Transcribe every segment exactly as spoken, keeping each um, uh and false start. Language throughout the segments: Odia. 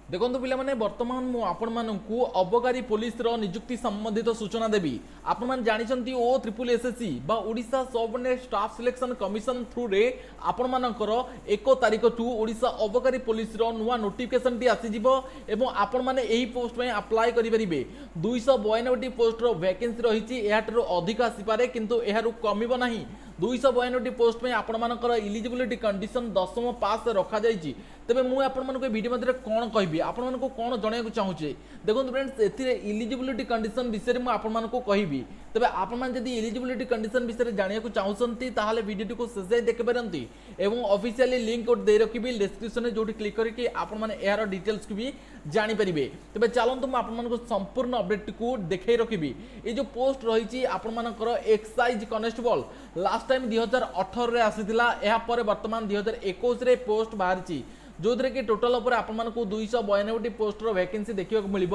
ଦେଖନ୍ତୁ ପିଲାମାନେ, ବର୍ତ୍ତମାନ ମୁଁ ଆପଣମାନଙ୍କୁ ଅବକାରୀ ପୋଲିସର ନିଯୁକ୍ତି ସମ୍ବନ୍ଧିତ ସୂଚନା ଦେବି। ଆପଣମାନେ ଜାଣିଛନ୍ତି, ଓ ତ୍ରିପୁଲ ଏସ୍ଏସ୍ସି ବା Odisha subordinate staff selection commission ଥ୍ରୁରେ ଆପଣମାନଙ୍କର ଏକ ତାରିଖଠୁ ଓଡ଼ିଶା ଅବକାରୀ ପୋଲିସର ନୂଆ ନୋଟିଫିକେସନଟି ଆସିଯିବ ଏବଂ ଆପଣମାନେ ଏହି ପୋଷ୍ଟ ପାଇଁ ଆପ୍ଲାଏ କରିପାରିବେ। ଦୁଇଶହ ବୟାନବେଟି ପୋଷ୍ଟର ଭ୍ୟାକେନ୍ସି ରହିଛି। ଏହାଠାରୁ ଅଧିକ ଆସିପାରେ, କିନ୍ତୁ ଏହାରୁ କମିବ ନାହିଁ। ଦୁଇଶହ ବୟାନବେଟି ପୋଷ୍ଟ ପାଇଁ ଆପଣମାନଙ୍କର ଇଲିଜିବିଲିଟି କଣ୍ଡିସନ ଦଶମ ପାସ୍ ରଖାଯାଇଛି। ତେବେ ମୁଁ ଆପଣମାନଙ୍କୁ ଏ ଭିଡ଼ିଓ ମଧ୍ୟରେ କ'ଣ କହିବି, ଆପଣମାନଙ୍କୁ କ'ଣ ଜଣାଇବାକୁ ଚାହୁଁଛି? ଦେଖନ୍ତୁ ଫ୍ରେଣ୍ଡସ୍, ଏଥିରେ ଇଲିଜିବିଲିଟି କଣ୍ଡିସନ ବିଷୟରେ ମୁଁ ଆପଣମାନଙ୍କୁ କହିବି। ତେବେ ଆପଣମାନେ ଯଦି ଇଲିଜିବିଲିଟି କଣ୍ଡିସନ ବିଷୟରେ ଜାଣିବାକୁ ଚାହୁଁଛନ୍ତି, ତାହେଲେ ଭିଡ଼ିଓଟିକୁ ଶେଷ ଯାଏଁ ଦେଖିପାରନ୍ତି ଏବଂ ଅଫିସିଆଲି ଲିଙ୍କ ଗୋଟେ ଦେଇ ରଖିବି ଡେସ୍କ୍ରିପସନରେ, ଯେଉଁଠି କ୍ଲିକ୍ କରିକି ଆପଣମାନେ ଏହାର ଡିଟେଲ୍ସକୁ ବି ଜାଣିପାରିବେ। ତେବେ ଚାଲନ୍ତୁ, ମୁଁ ଆପଣମାନଙ୍କୁ ସମ୍ପୂର୍ଣ୍ଣ ଅପଡେଟ୍ଟିକୁ ଦେଖାଇ ରଖିବି। ଏଇ ଯେଉଁ ପୋଷ୍ଟ ରହିଛି ଆପଣମାନଙ୍କର ଏକ୍ସାଇଜ୍ କନେଷ୍ଟବଳ, ଲାଷ୍ଟ ଟାଇମ୍ ଦୁଇ ହଜାର ଅଠରରେ ଆସିଥିଲା। ଏହାପରେ ବର୍ତ୍ତମାନ ଦୁଇ ହଜାର ଏକୋଇଶରେ ପୋଷ୍ଟ ବାହାରିଛି, ଯେଉଁଥିରେ କି ଟୋଟାଲ ଉପରେ ଆପଣମାନଙ୍କୁ ଦୁଇଶହ ବୟାନବେଟି ପୋଷ୍ଟର ଭ୍ୟାକେନ୍ସି ଦେଖିବାକୁ ମିଳିବ।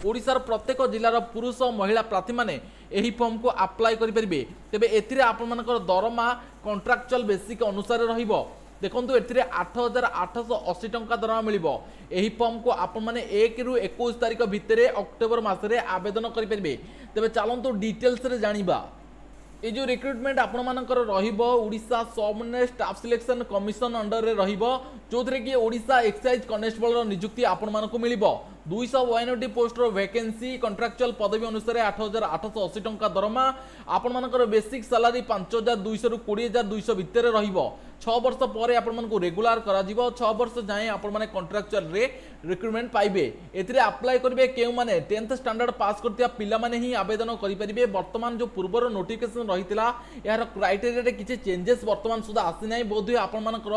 ଓଡ଼ିଶାର ପ୍ରତ୍ୟେକ ଜିଲ୍ଲାର ପୁରୁଷ ମହିଳା ପ୍ରାର୍ଥୀମାନେ ଏହି ଫର୍ମକୁ ଆପ୍ଲାଏ କରିପାରିବେ। ତେବେ ଏଥିରେ ଆପଣମାନଙ୍କର ଦରମା କଣ୍ଟ୍ରାକ୍ଚୁଆଲ ବେସିକ୍ ଅନୁସାରେ ରହିବ। ଦେଖନ୍ତୁ, ଏଥିରେ ଆଠ ହଜାର ଆଠଶହ ଅଶୀ ଟଙ୍କା ଦରମା ମିଳିବ। ଏହି ଫର୍ମକୁ ଆପଣମାନେ ଏକରୁ ଏକୋଇଶ ତାରିଖ ଭିତରେ ଅକ୍ଟୋବର ମାସରେ ଆବେଦନ କରିପାରିବେ। ତେବେ ଚାଲନ୍ତୁ ଡିଟେଲ୍ସରେ ଜାଣିବା। এই যে রিক্রুটমেন্ট আপনার রহব, Odisha subordinate staff selection commission অন্ডরের রহব, ଯେଉଁଥିରେ କି ଓଡ଼ିଶା ଏକ୍ସାଇଜ୍ କନେଷ୍ଟବଳର ନିଯୁକ୍ତି ଆପଣମାନଙ୍କୁ ମିଳିବ। ଦୁଇଶହ ବୟାନବେଟି ପୋଷ୍ଟର ଭ୍ୟାକେନ୍ସି, କଣ୍ଟ୍ରାକ୍ଚୁଆଲ ପଦବୀ ଅନୁସାରେ ଆଠ ହଜାର ଆଠଶହ ଅଶୀ ଟଙ୍କା ଦରମା। ଆପଣମାନଙ୍କର ବେସିକ୍ ସାଲାରୀ ପାଞ୍ଚ ହଜାର ଦୁଇଶହରୁ କୋଡ଼ିଏ ହଜାର ଦୁଇଶହ ଭିତରେ ରହିବ। ଛଅ ବର୍ଷ ପରେ ଆପଣମାନଙ୍କୁ ରେଗୁଲାର କରାଯିବ। ଛଅ ବର୍ଷ ଯାଏଁ ଆପଣମାନେ କଣ୍ଟ୍ରାକ୍ଚୁଆଲରେ ରିକ୍ରୁଟମେଣ୍ଟ ପାଇବେ। ଏଥିରେ ଆପ୍ଲାଏ କରିବେ କେଉଁମାନେ? ଟେନ୍ଥ ଷ୍ଟାଣ୍ଡାର୍ଡ ପାସ୍ କରିଥିବା ପିଲାମାନେ ହିଁ ଆବେଦନ କରିପାରିବେ। ବର୍ତ୍ତମାନ ଯେଉଁ ପୂର୍ବର ନୋଟିଫିକେସନ ରହିଥିଲା, ଏହାର କ୍ରାଇଟେରିଆରେ କିଛି ଚେଞ୍ଜେସ୍ ବର୍ତ୍ତମାନ ସୁଦ୍ଧା ଆସିନାହିଁ। ବୋଧହୁଏ ଆପଣମାନଙ୍କର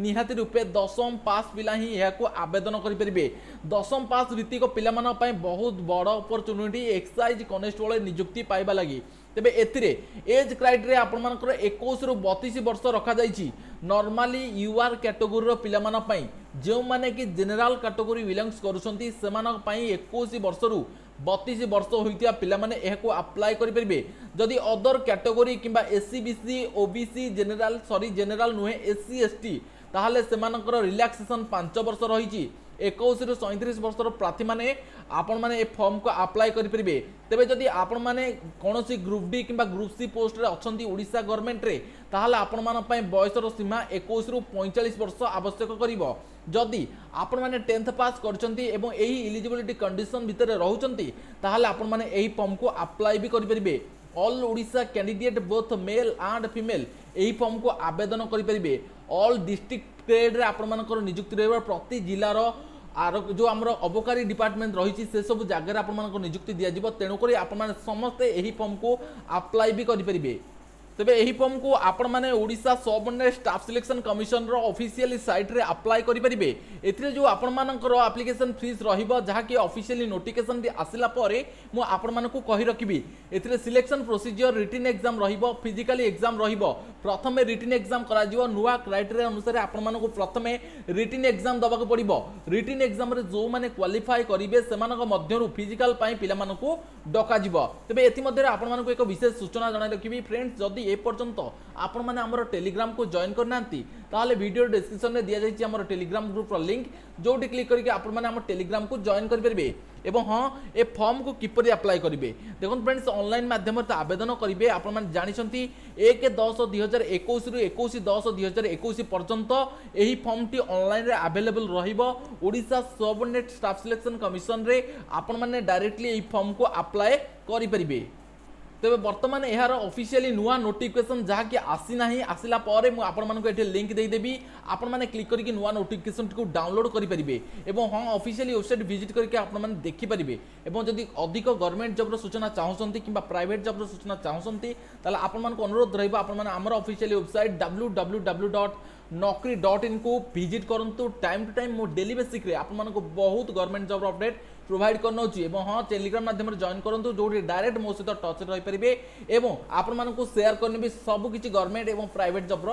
ନିହାତି ରୂପେ ଦଶମ ପାସ୍ ପିଲା ହିଁ ଏହାକୁ ଆବେଦନ କରିପାରିବେ। ଦଶମ ପାସ୍ ଭିତ୍ତିକ ପିଲାମାନଙ୍କ ପାଇଁ ବହୁତ ବଡ଼ ଅପରଚୁନିଟି ଏକ୍ସାଇଜ୍ କନେଷ୍ଟବଳ ନିଯୁକ୍ତି ପାଇବା ଲାଗି। ତେବେ ଏଥିରେ ଏଜ୍ କ୍ରାଇଟେରିଆ ଆପଣମାନଙ୍କର ଏକୋଇଶରୁ ବତିଶ ବର୍ଷ ରଖାଯାଇଛି ନର୍ମାଲି ୟୁଆର୍ କ୍ୟାଟେଗୋରୀର ପିଲାମାନଙ୍କ ପାଇଁ। ଯେଉଁମାନେ କି ଜେନେରାଲ କାଟେଗୋରୀ ବିଲଙ୍ଗସ୍ କରୁଛନ୍ତି, ସେମାନଙ୍କ ପାଇଁ ଏକୋଇଶ ବର୍ଷରୁ ବତିଶ ବର୍ଷ ହୋଇଥିବା ପିଲାମାନେ ଏହାକୁ ଆପ୍ଲାଏ କରିପାରିବେ। ଯଦି ଅଦର କ୍ୟାଟେଗୋରୀ କିମ୍ବା S C B C, ଓ ବି ସି, ଜେନେରାଲ, ସରି, ଜେନେରାଲ ନୁହେଁ, ଏସ୍ ସି, ଏସ୍ ଟି, ତାହେଲେ ସେମାନଙ୍କର ରିଲାକ୍ସେସନ୍ ପାଞ୍ଚ ବର୍ଷ ରହିଛି। ଏକୋଇଶରୁ ସଇଁତିରିଶ ବର୍ଷର ପ୍ରାର୍ଥୀମାନେ ଆପଣମାନେ ଏ ଫର୍ମକୁ ଆପ୍ଲାଏ କରିପାରିବେ। ତେବେ ଯଦି ଆପଣମାନେ କୌଣସି ଗ୍ରୁପ୍ ଡି କିମ୍ବା ଗ୍ରୁପ୍ ସି ପୋଷ୍ଟରେ ଅଛନ୍ତି ଓଡ଼ିଶା ଗଭର୍ଣ୍ଣମେଣ୍ଟରେ, ତାହେଲେ ଆପଣମାନଙ୍କ ପାଇଁ ବୟସର ସୀମା ଏକୋଇଶରୁ ପଇଁଚାଳିଶ ବର୍ଷ ଆବଶ୍ୟକ କରିବ। ଯଦି ଆପଣମାନେ ଟେନ୍ଥ ପାସ୍ କରିଛନ୍ତି ଏବଂ ଏହି ଇଲିଜିବିଲିଟି କଣ୍ଡିସନ୍ ଭିତରେ ରହୁଛନ୍ତି, ତାହେଲେ ଆପଣମାନେ ଏହି ଫର୍ମକୁ ଆପ୍ଲାଏ ବି କରିପାରିବେ। All Odisha candidate, both male and female, ଏହି ଫର୍ମକୁ ଆବେଦନ କରିପାରିବେ। ଅଲ୍ ଡିଷ୍ଟ୍ରିକ୍ଟ ଗ୍ରେଡ୍ରେ ଆପଣମାନଙ୍କର ନିଯୁକ୍ତି ରହିବ। ପ୍ରତି ଜିଲ୍ଲାର ଆର ଯେଉଁ ଆମର ଅବକାରୀ ଡିପାର୍ଟମେଣ୍ଟ ରହିଛି, ସେସବୁ ଜାଗାରେ ଆପଣମାନଙ୍କୁ ନିଯୁକ୍ତି ଦିଆଯିବ। ତେଣୁକରି ଆପଣମାନେ ସମସ୍ତେ ଏହି ଫର୍ମକୁ ଆପ୍ଲାଏ ବି କରିପାରିବେ। ତେବେ ଏହି ଫର୍ମକୁ ଆପଣମାନେ Odisha subordinate staff selection commissioner officially ସାଇଟ୍ରେ ଆପ୍ଲାଏ କରିପାରିବେ। ଏଥିରେ ଯେଉଁ ଆପଣମାନଙ୍କର ଆପ୍ଲିକେସନ୍ ଫିସ୍ ରହିବ, ଯାହାକି ଅଫିସିଆଲି ନୋଟିଫିକେସନଟି ଆସିଲା ପରେ ମୁଁ ଆପଣମାନଙ୍କୁ କହି ରଖିବି। ଏଥିରେ ସିଲେକ୍ସନ୍ ପ୍ରୋସିଜିଅର ରିଟିନ୍ ଏକ୍ଜାମ୍ ରହିବ, ଫିଜିକାଲି ଏକ୍ଜାମ୍ ରହିବ। ପ୍ରଥମେ ରିଟିନ୍ ଏକ୍ଜାମ୍ କରାଯିବ। ନୂଆ କ୍ରାଇଟେରିଆ ଅନୁସାରେ ଆପଣମାନଙ୍କୁ ପ୍ରଥମେ ରିଟିନ୍ ଏକ୍ଜାମ୍ ଦେବାକୁ ପଡ଼ିବ। ରିଟିନ୍ ଏକ୍ଜାମ୍ରେ ଯେଉଁମାନେ କ୍ୱାଲିଫାଏ କରିବେ, ସେମାନଙ୍କ ମଧ୍ୟରୁ ଫିଜିକାଲ ପାଇଁ ପିଲାମାନଙ୍କୁ ଡକାଯିବ। ତେବେ ଏଥିମଧ୍ୟରେ ଆପଣମାନଙ୍କୁ ଏକ ବିଶେଷ ସୂଚନା ଜଣାଇ ରଖିବି ଫ୍ରେଣ୍ଡସ୍, ଯଦି ଏପର୍ଯ୍ୟନ୍ତ ଆପଣମାନେ ଆମର ଟେଲିଗ୍ରାମକୁ ଜଏନ୍ କରିନାହାନ୍ତି, ତାହେଲେ ଭିଡ଼ିଓ ଡେସ୍କ୍ରିପସନରେ ଦିଆଯାଇଛି ଆମର ଟେଲିଗ୍ରାମ ଗ୍ରୁପର ଲିଙ୍କ, ଯେଉଁଠି କ୍ଲିକ୍ କରିକି ଆପଣମାନେ ଆମ ଟେଲିଗ୍ରାମକୁ ଜଏନ୍ କରିପାରିବେ। ଏବଂ ହଁ, ଏ ଫର୍ମକୁ କିପରି ଆପ୍ଲାଏ କରିବେ? ଦେଖନ୍ତୁ ଫ୍ରେଣ୍ଡସ୍, ଅନଲାଇନ୍ ମାଧ୍ୟମରେ ତ ଆବେଦନ କରିବେ। ଆପଣମାନେ ଜାଣିଛନ୍ତି, ଏକ ଦଶ ଦୁଇ ହଜାର ଏକୋଇଶରୁ ଏକୋଇଶ ଦଶ ଦୁଇ ହଜାର ଏକୋଇଶ ପର୍ଯ୍ୟନ୍ତ ଏହି ଫର୍ମଟି ଅନଲାଇନ୍ରେ ଆଭେଲେବଲ୍ ରହିବ। ଓଡ଼ିଶା ସବଅର୍ଡିନେଟ୍ ଷ୍ଟାଫ୍ ସିଲେକ୍ସନ୍ କମିଶନରେ ଆପଣମାନେ ଡାଇରେକ୍ଟଲି ଏହି ଫର୍ମକୁ ଆପ୍ଲାଏ କରିପାରିବେ। ତେବେ ବର୍ତ୍ତମାନ ଏହାର ଅଫିସିଆଲି ନୂଆ ନୋଟିଫିକେସନ୍ ଯାହାକି ଆସିନାହିଁ, ଆସିଲା ପରେ ମୁଁ ଆପଣମାନଙ୍କୁ ଏଠି ଲିଙ୍କ ଦେଇଦେବି। ଆପଣମାନେ କ୍ଲିକ୍ କରିକି ନୂଆ ନୋଟିଫିକେସନ୍ଟିକୁ ଡାଉନଲୋଡ୍ କରିପାରିବେ ଏବଂ ହଁ, ଅଫିସିଆଲି ୱେବସାଇଟ୍ ଭିଜିଟ୍ କରିକି ଆପଣମାନେ ଦେଖିପାରିବେ। ଏବଂ ଯଦି ଅଧିକ ଗଭର୍ଣ୍ଣମେଣ୍ଟ ଜବ୍ର ସୂଚନା ଚାହୁଁଛନ୍ତି କିମ୍ବା ପ୍ରାଇଭେଟ୍ ଜବ୍ର ସୂଚନା ଚାହୁଁଛନ୍ତି, ତାହେଲେ ଆପଣମାନଙ୍କୁ ଅନୁରୋଧ ରହିବ, ଆପଣମାନେ ଆମର officially website W W W dot ନକରି ଡଟ୍ ଇନ୍କୁ ଭିଜିଟ୍ କରନ୍ତୁ। ଟାଇମ୍ ଟୁ ଟାଇମ୍ ମୁଁ ଡେଲି ବେସିକ୍ରେ ଆପଣମାନଙ୍କୁ ବହୁତ ଗଭର୍ଣ୍ଣମେଣ୍ଟ ଜବ୍ର ଅପଡେଟ୍ ପ୍ରୋଭାଇଡ଼ କରିନେଉଛି। ଏବଂ ହଁ, ଟେଲିଗ୍ରାମ ମାଧ୍ୟମରେ ଜଏନ୍ କରନ୍ତୁ, ଯେଉଁଠି ଡାଇରେକ୍ଟ ମୋ ସହିତ ଟଚ୍ରେ ରହିପାରିବେ ଏବଂ ଆପଣମାନଙ୍କୁ ସେୟାର କରିନେବି ସବୁକିଛି ଗଭର୍ଣ୍ଣମେଣ୍ଟ ଏବଂ ପ୍ରାଇଭେଟ୍ ଜବ୍ର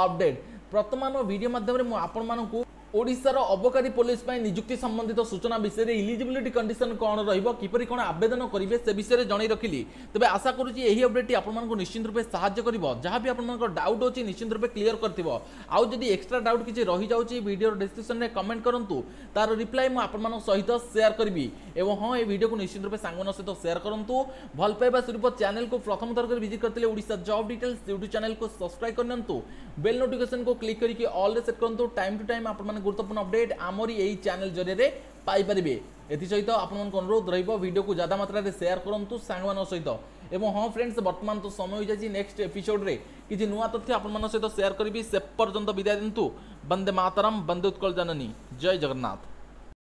ଅପଡେଟ୍। ବର୍ତ୍ତମାନ ଭିଡ଼ିଓ ମାଧ୍ୟମରେ ମୁଁ ଆପଣମାନଙ୍କୁ ଓଡ଼ିଶାର ଅବକାରୀ ପୋଲିସ ପାଇଁ ନିଯୁକ୍ତି ସମ୍ବନ୍ଧିତ ସୂଚନା ବିଷୟରେ, ଇଲିଜିବିଲିଟି କଣ୍ଡିସନ କ'ଣ ରହିବ, କିପରି କ'ଣ ଆବେଦନ କରିବେ, ସେ ବିଷୟରେ ଜଣାଇ ରଖିଲି। ତେବେ ଆଶା କରୁଛି ଏହି ଅପଡେଟ୍ଟି ଆପଣମାନଙ୍କୁ ନିଶ୍ଚିତ ରୂପେ ସାହାଯ୍ୟ କରିବ। ଯାହା ବି ଆପଣଙ୍କ ଡାଉଟ୍ ଅଛି, ନିଶ୍ଚିତ ରୂପେ କ୍ଲିୟର କରିଥିବ। ଆଉ ଯଦି ଏକ୍ସଟ୍ରା ଡାଉଟ୍ କିଛି ରହିଯାଉଛି, ଭିଡ଼ିଓର ଡିସ୍କ୍ରିପ୍ସନରେ କମେଣ୍ଟ କରନ୍ତୁ, ତାର ରିପ୍ଲାଏ ମୁଁ ଆପଣମାନଙ୍କ ସହିତ ସେୟାର କରିବି। ଏବଂ ହଁ, ଏ ଭିଡ଼ିଓକୁ ନିଶ୍ଚିତ ରୂପେ ସାଙ୍ଗମାନଙ୍କ ସହିତ ସେୟାର କରନ୍ତୁ। ଭଲ ପାଇବା ସ୍ୱରୂପ ଚ୍ୟାନେଲକୁ ପ୍ରଥମ ଥର କରି ଭିଜିଟ୍ କରିଥିଲେ ଓଡ଼ିଶା ଜବ୍ ଡିଟେଲ୍ସ ୟୁଟ୍ୟୁବ୍ ଚ୍ୟାନେଲକୁ ସବସ୍କ୍ରାଇବ୍ କରିନିଅନ୍ତୁ, ବେଲ୍ ନୋଟିଫିକେସନକୁ କ୍ଲିକ୍ କରିକି ଅଲ୍ରେ ସେଟ୍ କରନ୍ତୁ। ଟାଇମ୍ ଟୁ ଟାଇମ୍ ଆପଣମାନେ ଗୁରୁତ୍ୱପୂର୍ଣ୍ଣ ଅପଡେଟ୍ ଆମରି ଏହି ଚ୍ୟାନେଲ ଜରିଆରେ ପାଇପାରିବେ। ଏଥିସହିତ ଆପଣମାନଙ୍କ ଅନୁରୋଧ ରହିବ, ଭିଡ଼ିଓକୁ ଜ୍ୟାଦା ମାତ୍ରାରେ ସେୟାର କରନ୍ତୁ ସାଙ୍ଗମାନଙ୍କ ସହିତ। ଏବଂ ହଁ ଫ୍ରେଣ୍ଡସ୍, ବର୍ତ୍ତମାନ ତ ସମୟ ହୋଇଯାଇଛି। ନେକ୍ସଟ ଏପିସୋଡରେ କିଛି ନୂଆ ତଥ୍ୟ ଆପଣମାନଙ୍କ ସହିତ ସେୟାର କରିବି। ସେ ପର୍ଯ୍ୟନ୍ତ ବିଦାୟ ଦିଅନ୍ତୁ। ବନ୍ଦେ ମାତରମ୍, ବନ୍ଦେ ଉତ୍କଳ ଜନନୀ, ଜୟ ଜଗନ୍ନାଥ।